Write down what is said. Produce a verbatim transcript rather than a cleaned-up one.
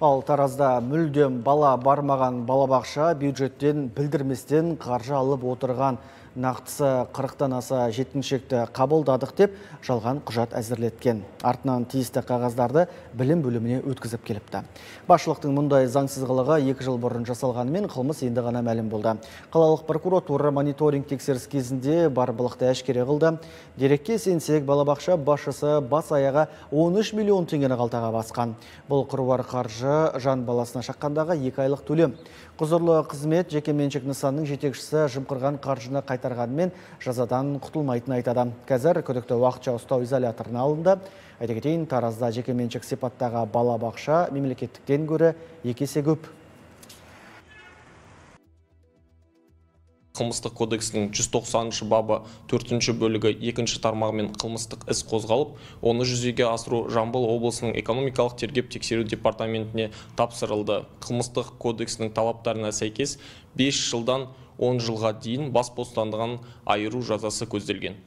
Ал Таразда мүлдем бала бармаган балабакча бюджеттен билдирместен каржы алып отырган. Нақтысы кырктан аса жеткинчекти кабылдадык деп жалган кужат әзірлеткен. Артынан тиісті қағаздарды билим бөлүмүнө өткізіп келипти. Башчылыктын мындай заңсызгылыгы эки жыл бурун жасалганымен кылмыс энди гана мәлім болды. Қалалық прокуратура мониторинг текшеріс кезинде бар былыкты ашкере кылды. Дерекке сенсек, балабакча башчысы бас аяга он үч миллион теңгени калтага баскан. Бул кырбар каржы жан баласына шаккандагы эки айлык төлөм. Кузурлуу кызмет жеке менчик нысанның жетекчиси жымкырган каржыны кайтарганымен жазадан кутулмайтынын айтады. Қазір күдүктүү убакытча ұстау изоляторуна алынды. Айта кетейин, Таразда жеке менчик сипаттагы бала бакча мемлекеттиктен көрө эки эсе көп. Кылмыстык кодекстин жүз токсонунчу бабы төртүнчү бөлүгү экинчи тармагымен кылмыстык іс козголуп, оны жүзеге асыруу Жамбыл облусунун экономикалык тергеп текшерүү департаментине тапсырылды. Кылмыстык кодекстин талаптарына сайкес беш жылдан он жылга дейин бас бостандыгын айыруу жазасы көзделген.